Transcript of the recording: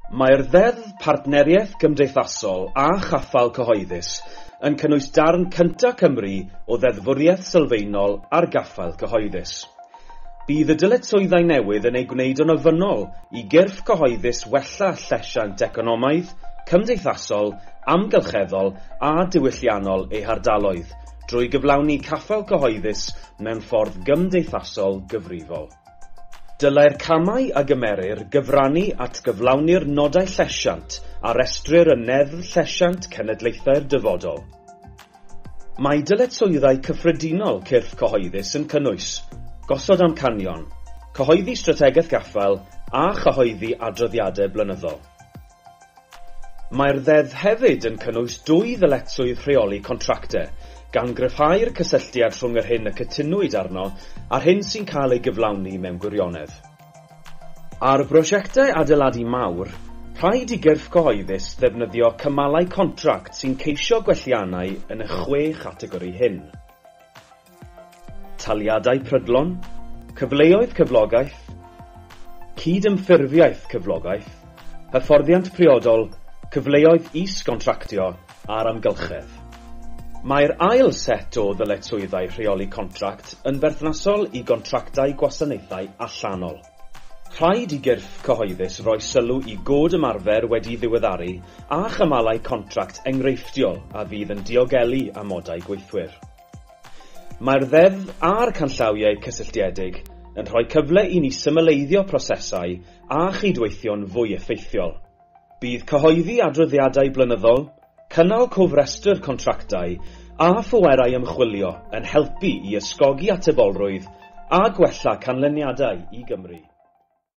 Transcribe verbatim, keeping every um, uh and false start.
Mae'r Ddeddf Partneriaeth Gymdeithasol a Chaffael Cyhoeddus yn cynnwys darn cyntaf Cymru o ddeddfwriaeth sylfaenol ar gaffael cyhoeddus. Bydd y dyletswyddau newydd yn ei gwneud yn ofynnol i gyrff cyhoeddus wella llesiant economaidd, cymdeithasol, amgylcheddol a diwylliannol eu hardaloedd drwy gyflawni caffael cyhoeddus mewn ffordd gymdeithasol gyfrifol. Dylai'r camau a gymerir gyfrannu at gyflawni'r nodau llesiant a restrir yn Neddf Llesiant Cenedlaethau'r Dyfodol. Mae dyletswyddau cyffredinol cyrff cyhoeddus yn cynnwys gosod amcanion, cyhoeddi strategaeth gaffael a chyhoeddi adroddiadau blynyddol. Mae'r ddeddf hefyd yn cynnwys dwy ddyletswydd rheoli contractau, gan gryfhau'r cysylltiad rhwng yr hyn y cytunwyd arno a'r hyn sy'n cael ei gyflawni mewn gwirionedd. Ar brosiectau adeiladu mawr, rhaid i gyrff cyhoeddus ddefnyddio cymalau contract sy'n ceisio gwelliannau yn y chwe chategori hyn. Taliadau prydlon, cyfleoedd cyflogaeth, cydymffurfiaeth cyflogaeth, hyfforddiant priodol, cyfleoedd is-gontractio a'r amgylchedd. Mae'r ail set o ddyletswyddau rheoli contract yn berthnasol i gontractau gwasanaethau allanol. Rhaid i gyrff cyhoeddus roi sylw i god ymarfer wedi ddiweddaru a chymalau contract enghreifftiol a fydd yn diogelu amodau gweithwyr. Mae'r ddeddf a'r canllawiau cysylltiedig yn rhoi cyfle i ni symleiddio prosesau a chydweithio'n fwy effeithiol. Bydd cyhoeddi adroddiadau blynyddol, cynnal cofrestr contractau a phwerau ymchwilio yn helpu i ysgogi atebolrwydd a gwella canlyniadau i Gymru.